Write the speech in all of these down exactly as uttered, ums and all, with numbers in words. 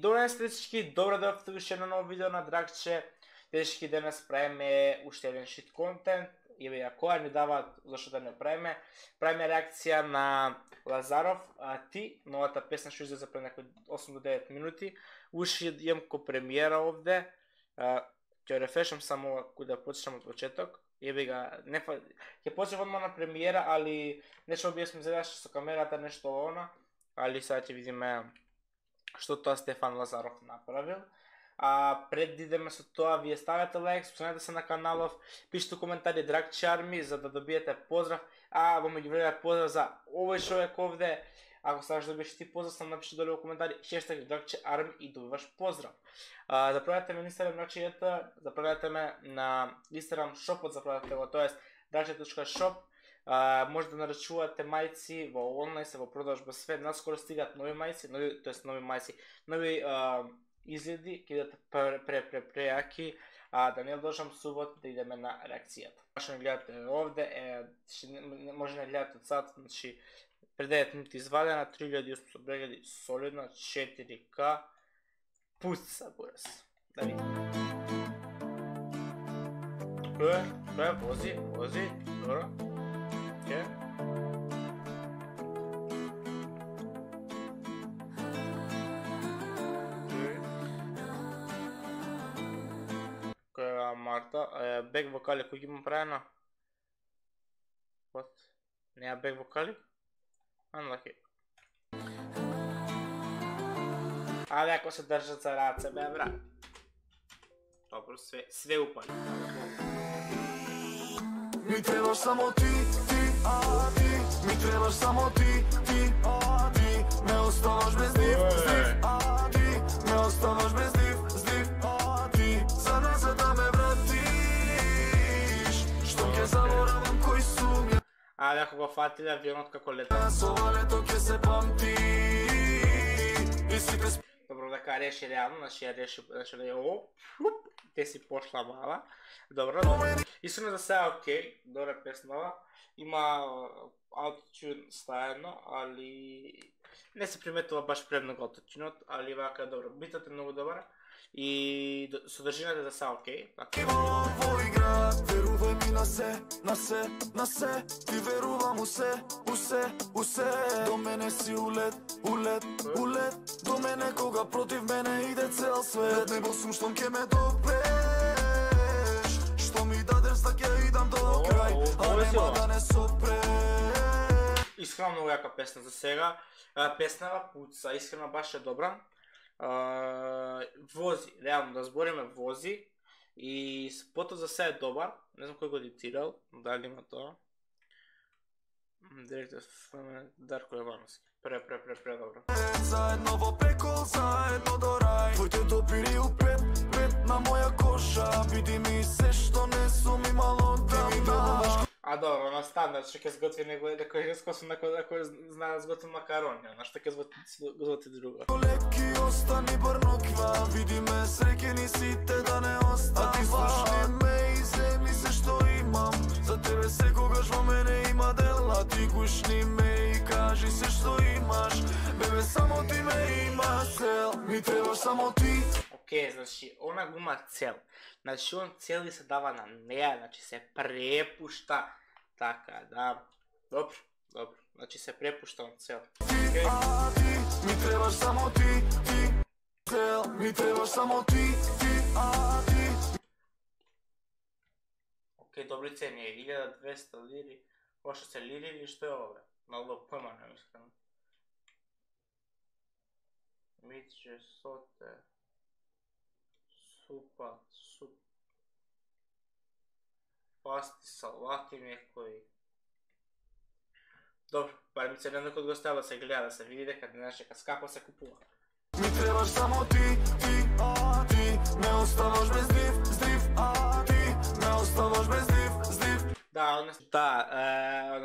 Добро ден всички, добро дојдовте уште едно ново видео на Драгче. Дечки, денес правиме уште еден шит контент. И бе, која ни даваат зашто да не правиме. Правиме реакција на Лазаров, а ти, новата песна што излезе пред некои осум до девет минути. Уште имам ко премиера овде. Ќе рефрешам само кој да почнем од почеток. Ебе га, не ќе почнем одма на премиера, али нешто би сме задаш со камерата, нешто она, али сега ќе видиме што тоа Стефан Лазаров направил. А пред да идеме со тоа, вие ставете лайк, споменете се на каналов, пишете коментари Драгче Арми за да добиете поздрав. А во меѓувреме поздрав за овој човек овде. Ако сакаш да добиеш ти поздрав, сам напиши долу во коментари хештаг Драгче Арми и добиваш поздрав. А, заправете ме на Инстаграм Драгче, заправете ме на Инстаграм шопот, заправете го, тоест драгче точка шоп. Uh, може да нарачувате мајци во онлайн, се во продажба све, наскоро стигаат нови мајци, нови, тоест нови мајци, нови uh, изгледи, ќе бидат пре пре пре прејаки, а да не должам субот да идеме на реакцијата. Што не гледате овде, е, може не гледате од сад, значи пред девет минути извадена, три илјади и осумстотини прегледи, солидно, четири ка, пуца бурас. Да видим. Кој е? Кој е? Вози, вози, добро. Okay. Која Марта, бек вокали кој ги има правено? What? Неа бек вокали? Unlucky. Але ако се држат за раце, бе брат. Добро, све, све упали. Ми требаш само ти, ти, а ти. Ми требаш само ти, ти, а ти. Ме оставаш без див, здив, а ти. Ме оставаш без див, здив, а ти. За нас за да ме вратиш. Што ќе заборавам кој сум ја. Але ако го фатили авионот како лета. Со лето ќе се памти. И сите. Добро, дека реши реално, значи ја реши, значи да ја оп, те си пошла мала. Добро, добро. Искрено за сега окей, добра песнава. Има аутотюн стаено, али не се приметува баш премногу аутотюнот, али вака добро. Битот е многу добар и содржината за сега окей. Во игра, верувај ми на се, на се, на се. Ти верувам у се, у се, у се. До мене си улет, улет, улет. До мене кога против мене иде цел свет. Не бил сум штом ке ме допреш. Што ми дадеш да ќе идам до крај, а нема да не сопреш. Искрено многу јака песна за сега. Песнава пуца, искрено баш е добра. Uh, вози, реално да збориме вози и спотот за се е добар, не знам кој го едитирал, дали има тоа. Директор Дарко Јовановски. Пре, пре, пре, пре, добро. Заедно во пекол, заедно до рај. Твоите допири упред, пред на моја коша. Биди ми се што не сум имало дам. А добро, на стандард што ќе сготви некој некој рескосо некој знае да сготви макарони, на што ќе сготви друго. Леки остани брноква, види ме среќени сите да не остава. А ти слушни ме и земли се што имам. За тебе секогаш во мене има дела. Ти гушни ме и кажи се што имаш. Бебе, само ти ме има цел. Ми требаш само ти. Океј, значи, она го има цел. Значи, он цели се дава на неа, значи се препушта. Така, да. Добро, добро. Значи се препушта на цел. Ти, а ти, ми требаш само ти, ти. Цел, ми требаш само ти, ти, а ти. Океј, добри цени, илјада и двесте лири. Ошто се лири или што е ове? Мало појма не искрено. Митче, соте. Супа, суп. Пасти, салати некои. Добро, барем се едно кога го ставила се гледа, да се види дека денес дека скапо се купува. Ми требаш само ти, ти, а ти. Ме оставаш без див, здрив, а ти. Ме оставаш без див, здрив. Да, одно, да,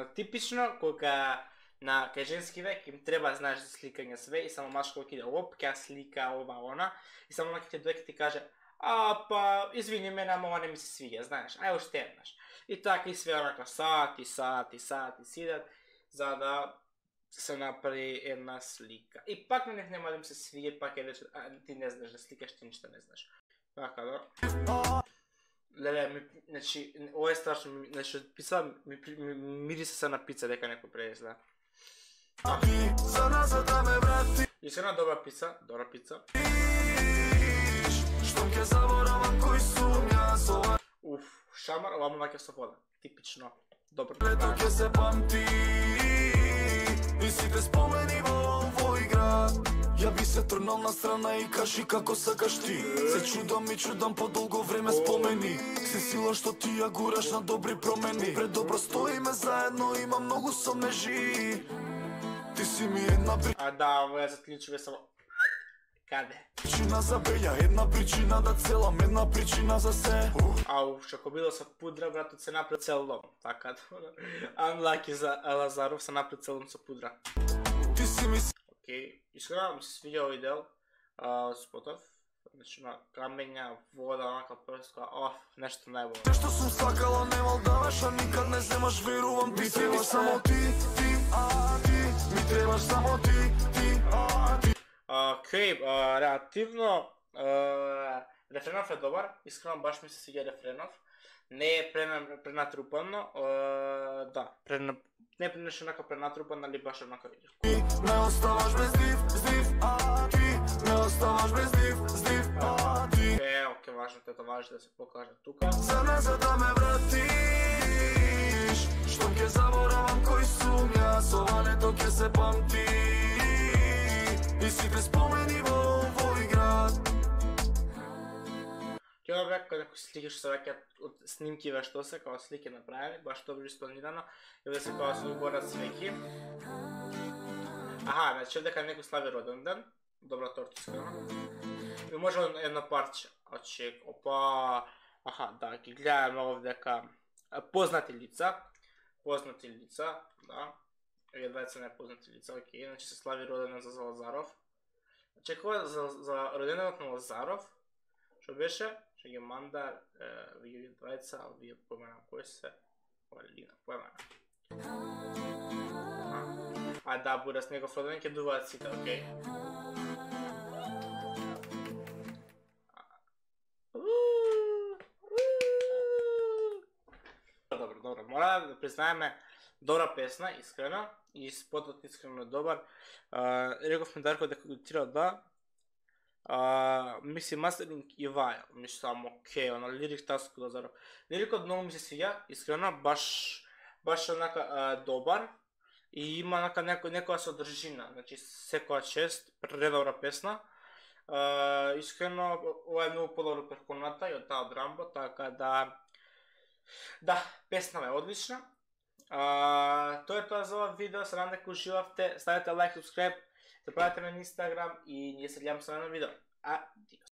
е, типично кога на кај женски век им треба знаеш за сликање све и само машко ќе иде оп, ќе слика ова она и само на ќе дојде ти каже а па извини мене, ама ова не ми се свиѓа, знаеш, ај уште еднаш. И така и све онака сати, сати, сати сидат за да се направи една слика. И пак на них нема да им се свиѓа, пак е рече, а ти не знаеш да сликаш, ти ништо не знаеш. Така да. Леле, ми, значи, ова е страшно, ми, значи, од пица, ми, ми, мирисе се на пица дека некој пренесла. А ти за назад да ме врати. И се една добра пица, добра пица. Штом ќе заборавам кој сум јас, ова Уф, шамар, ова му ваќа со вода. Типично. Добро. лето ќе се памти. И сите спомени во овој град. Ја би се трнал на страна и кажи како сакаш ти. Се чудам и чудам по долго време спомени. Се сила што ти ја гураш на добри промени. Предобро стоиме заедно, има многу сомнежи. Ти си ми една А да, ова е за клучеве само. Каде? причина за беја, една причина да целам, една причина за се. Ау, што било со пудра, братот се напред цел дом. Така да. Unlucky за Лазаров се напред цел дом со пудра. Ти си ми Океј, искрено ми се свиѓа овој дел, а, спотов. Значи на камења, вода, онака прска, оф, нешто најбољно. Те што сум сакала немал даваш, а никад не земаш, верувам. Ми требаш само ти, ти, а ти. Ми требаш само ти, ти, а ти. Океј, а, реактивно, а, рефренов е добар, искрено баш ми се свиѓа рефренов. Не е прена- пренатрупано, а, да, прена, не е нешто онака пренатрупано, али баш онака видиш. Ти ме оставаш без див, здив, а ти. Ме оставаш без див, здив, а ти. Е, окей, важно, тето важно да се покаже тука. За назад да ме вратиш. Штом ќе заборавам кој сум јас, ова лето ќе се памти. И сите спомени во овој град. Ќе да бе како некои слики што се ваќаат од снимки ве што се, као слики направени, баш добро испланирано, и да се као се уборат свеки. Аха, значи дека некој слави роден ден, добра тортиска. И може едно парче. Значи, опа, аха, да, ги гледаме овде дека познати лица, познати лица, да. Еве двајца непознати лица, окей, значи се слави роден ден за Лазаров. Значи, кога за, за роденденот на Лазаров, што беше? Ще ги манда, вие двајца, а вие поменам кој се, Лина, поменам. А да, буде с негов роден ќе дуваат сите, окей. Добро, добро, мора да признаеме добра песна, искрена, и спотот искрено добар. Рековме Дарко дека го тира да, Uh, мисли мастеринг и ваја, мисли само окей, она лирик таско да зароб. Лирикот многу ми се свиѓа, искрено, баш баш онака uh, добар и има онака некој некоја содржина, значи секоја чест, предобра песна. Uh, искрено, ова е многу подобро перконата и од таа од Рамбо, така да да, песна е одлична. Uh, тоа е тоа за ова видео, се надам дека уживавте, ставете лайк, subscribe, се правите на Инстаграм и ние се гледаме со едно видео. Адиос.